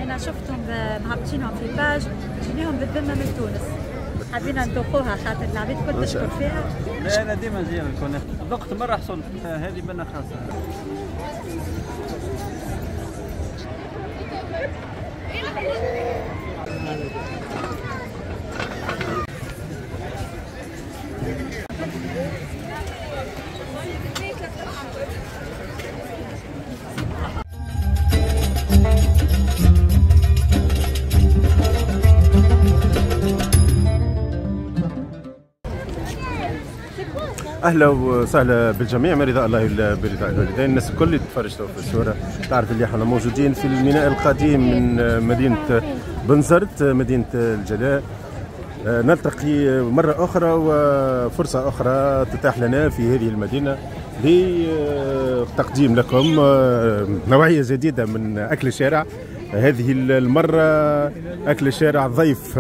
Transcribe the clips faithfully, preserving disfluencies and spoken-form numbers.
انا شفتهم مهبطينهم في page، جيناهم بالذمه من تونس، حبينا ندوقوها خاطر العباد كل تشكر فيها. لا انا ديما نجي الكنافه، ذقت مرة حصلت هذه بنا خاصة. اهلا وسهلا بالجميع، من رضاء الله برضاء الوالدين. الناس الكل اللي تتفرج في الصورة تعرف اللي احنا موجودين في الميناء القديم من مدينة بنزرت، مدينة الجلاء. نلتقي مرة اخرى وفرصه اخرى تتاح لنا في هذه المدينة لتقديم لكم نوعية جديدة من اكل الشارع. هذه المرة اكل الشارع ضيف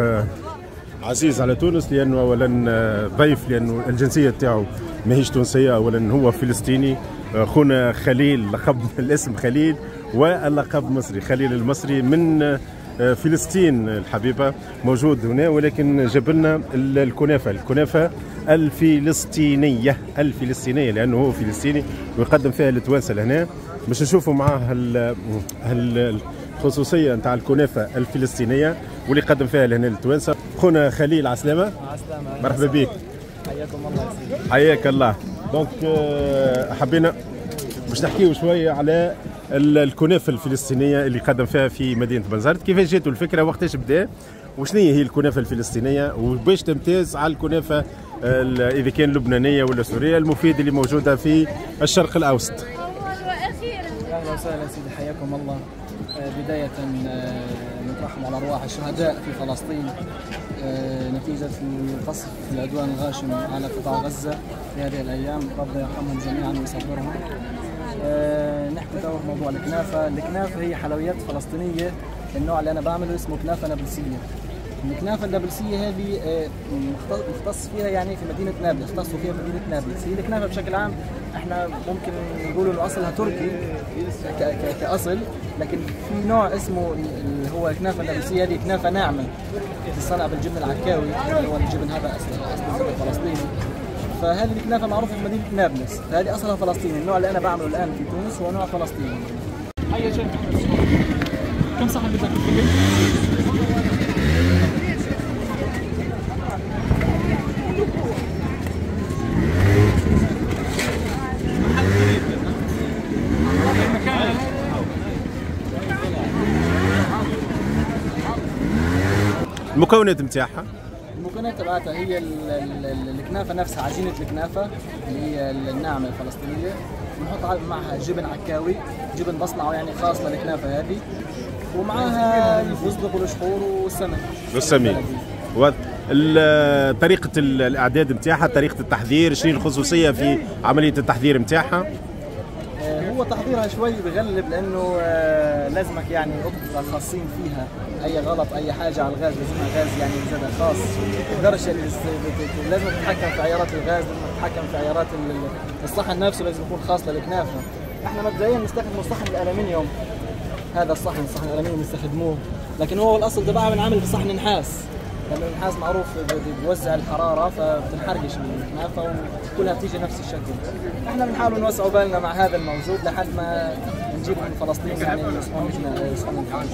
عزيز على تونس، لانه اولا ضيف لانه الجنسية تاعو ماهيش تونسية، اولا هو فلسطيني. خونا خليل، لقب الاسم خليل واللقب مصري، خليل المصري من فلسطين الحبيبة، موجود هنا ولكن جاب لنا الكنافه، الكنافه الفلسطينية، الفلسطينية لانه هو فلسطيني ويقدم فيها للتوانسه لهنا. باش نشوفوا معاه الخصوصية نتاع الكنافه الفلسطينية واللي قدم فيها لهنا للتوانسه. خونا خليل، عسلامة. عسلامة، مرحبا بك. حياكم الله يا سيدي. حياك الله. donc حبينا باش نحكيو شوية على الكنافه الفلسطينية اللي قدم فيها في مدينة بنزرت. كيفاش جاتو الفكرة، وقتاش بدا، وشنو هي الكنافه الفلسطينية، وباش تمتاز على الكنافه اذا كان لبنانية ولا سورية المفيد اللي موجودة في الشرق الاوسط. اهلا وسهلا سيدي، حياكم الله. بداية نترحم على أرواح الشهداء في فلسطين نتيجة القصف العدوان الغاشم على قطاع غزة في هذه الأيام، ربنا يرحمهم جميعا ويصبرهم. نحكي تو في موضوع الكنافة. الكنافة هي حلويات فلسطينية، النوع اللي أنا بعمله اسمه كنافة نابلسية. الكنافة النابلسية هذه مختص فيها يعني في مدينة نابلس، اختصوا فيها في مدينة نابلس. هي الكنافة بشكل عام احنا ممكن نقول انه اصلها تركي كأصل، لكن في نوع اسمه اللي هو الكنافة النابلسية، هذه كنافة ناعمة تصنع بالجبن العكاوي، اللي هو الجبن هذا اصله اصله فلسطيني. فهذه الكنافة معروفة في مدينة نابلس، فهذه اصلها فلسطيني. النوع اللي انا بعمله الان في تونس هو نوع فلسطيني. هيا شيخ، كم صحن بدك؟ المكونات نتاعها؟ المكونات تبعتها هي الكنافه نفسها، عجينه الكنافه اللي هي الناعمة الفلسطينية، بنحط معها جبن عكاوي، جبن بصنعه يعني خاص للكنافه هذه، ومعها الفستق والشحور والسمن. والسمين. طريقة الإعداد نتاعها، طريقة التحضير، شنو الخصوصية في عملية التحضير نتاعها؟ هو تحضيرها شوي بغلب، لأنه لازمك يعني أطباء خاصين فيها، أي غلط أي حاجة على الغاز لازمها غاز يعني زاد خاص، ما تقدرش، لازم تتحكم في عيارات الغاز، لازم تتحكم في عيارات الصحن نفسه، لازم يكون خاص للكنافة. احنا مبدئيا نستخدم صحن الألمنيوم، هذا الصحن صحن الألمنيوم نستخدموه، لكن هو الأصل تبعه بنعمل بصحن نحاس، لأنه النحاس معروف بيوزع الحرارة فبتنحرقش الكنافة وكلها بتيجي نفس الشكل. احنا بنحاول نوسعوا بالنا مع هذا الموجود لحد ما نجيبه من فلسطين، يعني صحون صحون نحاس.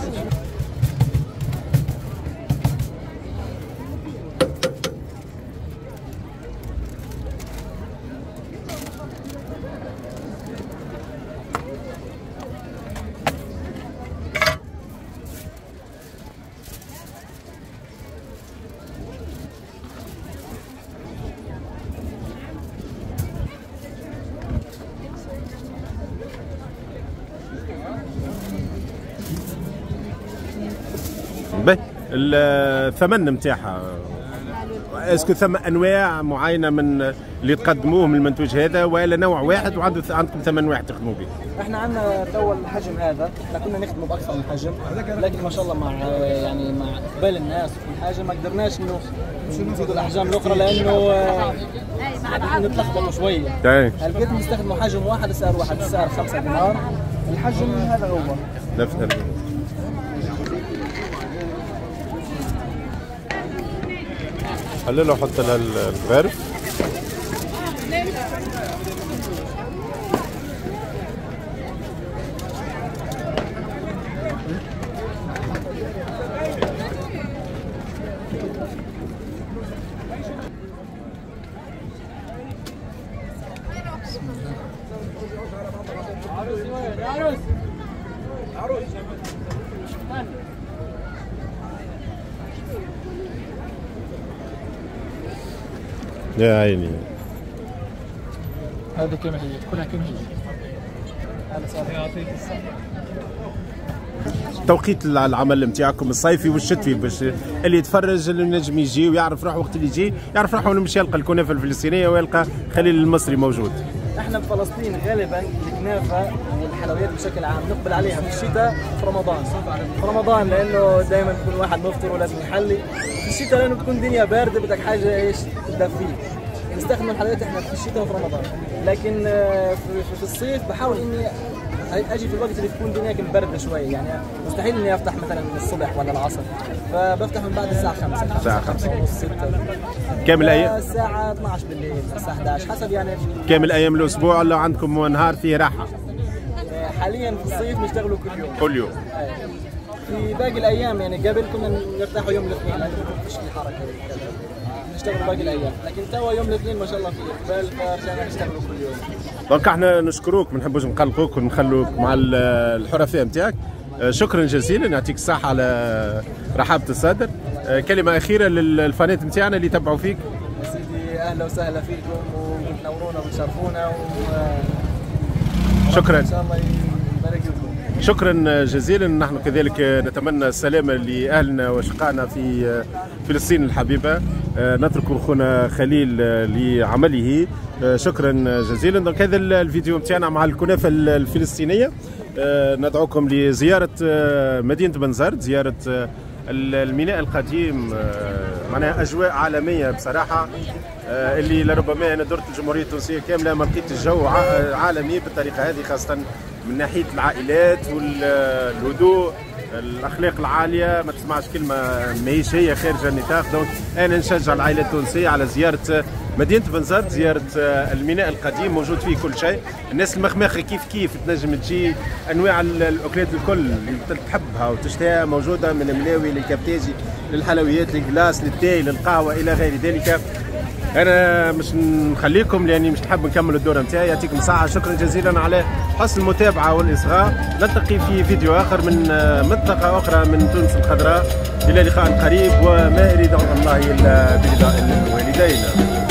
به الثمن نتاعها، est-ce que ثم انواع معينة من اللي تقدموه من المنتوج هذا ولا نوع واحد وعنده عندكم ثمن واحد تخدموا به؟ احنا عندنا تو الحجم هذا، احنا كنا نخدمه باكثر من حجم، لكن ما شاء الله مع يعني مع اقبال الناس وكل حاجة ما قدرناش انه نزيدوا الاحجام الاخرى لانه نتلخبطوا شوية. هلقيت نستخدموا حجم واحد سعر واحد، السعر خمسة دينار. الحجم هذا هو نفس. حلله وحط لها الغرف. يا عيني هذه كما هي، كلها كما هي. هذا صار يعطيك الصحة. توقيت العمل نتاعكم الصيفي والشتوي باش اللي يتفرج اللي نجم يجي ويعرف روحه وقت اللي يجي يعرف روحه انه مش يلقى الكنافه الفلسطينية ويلقى خليل المصري موجود. احنا بفلسطين غالبا الكنافه والحلويات بشكل عام نقبل عليها في الشتاء في رمضان. في رمضان لانه دائما بكون واحد مفطر ولازم يحلي، في الشتاء لانه بتكون الدنيا باردة بدك حاجة ايش تدفيك. نستخدم الحلويات احنا في الشتاء وفي رمضان، لكن في الصيف بحاول اني اجي في الوقت اللي تكون الدنيا باردة شوي، يعني مستحيل اني افتح مثلا الصبح ولا العصر، فبفتح من بعد الساعة خمسة الساعة خمسة ونص ستة. كامل ايام الساعة اثنعش بالليل الساعة إحدى عشر حسب يعني. كامل ايام الاسبوع ولا عندكم نهار فيه راحة؟ حاليا في الصيف نشتغلوا كل يوم. كل يوم. في باقي الايام يعني قبل كنا نرتاحوا يوم الاثنين لانه ما فيش في حركة، نشتغل باقي الايام، لكن توا يوم الاثنين ما شاء الله في اقبال فرجعنا نشتغلوا كل يوم. donc احنا نشكروك، ما نحبوش نقلقوك ونخلوك مع الحرفاء نتاعك. شكرا جزيلا، يعطيك الصحة على رحابة الصدر. كلمة أخيرة للفانات نتاعنا اللي تبعوا فيك. يا سيدي أهلا وسهلا فيكم وتنورونا وتشرفونا و... شكرا. إن شاء الله يبارك لكم. شكرا جزيلا. نحن كذلك نتمنى السلامة لأهلنا وأشقائنا في فلسطين الحبيبة. نترك أخونا خليل لعمله. شكرا جزيلا. donc هذا الفيديو نتاعنا مع الكنافة الفلسطينية. ندعوكم لزيارة مدينة بنزرت، زيارة الميناء القديم، معناها أجواء عالمية بصراحة اللي لربما أنا درت الجمهورية التونسية كاملة ما لقيت الجو عالمي بالطريقة هذه، خاصة من ناحية العائلات والهدوء، الأخلاق العالية، ما تسمعش كلمة ماهيش هي خارج النطاق. donc أنا نشجع العائلة التونسية على زيارة مدينة بنزرت، زيارة الميناء القديم موجود فيه كل شيء. الناس المخماخة كيف كيف تنجم تجي، أنواع الأكلات الكل اللي تحبها وتشتهيها موجودة، من الملاوي للكبتاجي للحلويات لل glace للتاي للقهوة إلى غير ذلك. أنا مش نخليكم لأني مش نحب نكمل الدورة نتاعي. يعطيكم الصحة، شكرا جزيلا على حسن المتابعة والإصغاء. نلتقي في فيديو آخر من منطقة أخرى من تونس الخضراء. إلى لقاء قريب، وما أريد الله إلا برضاء الوالدين.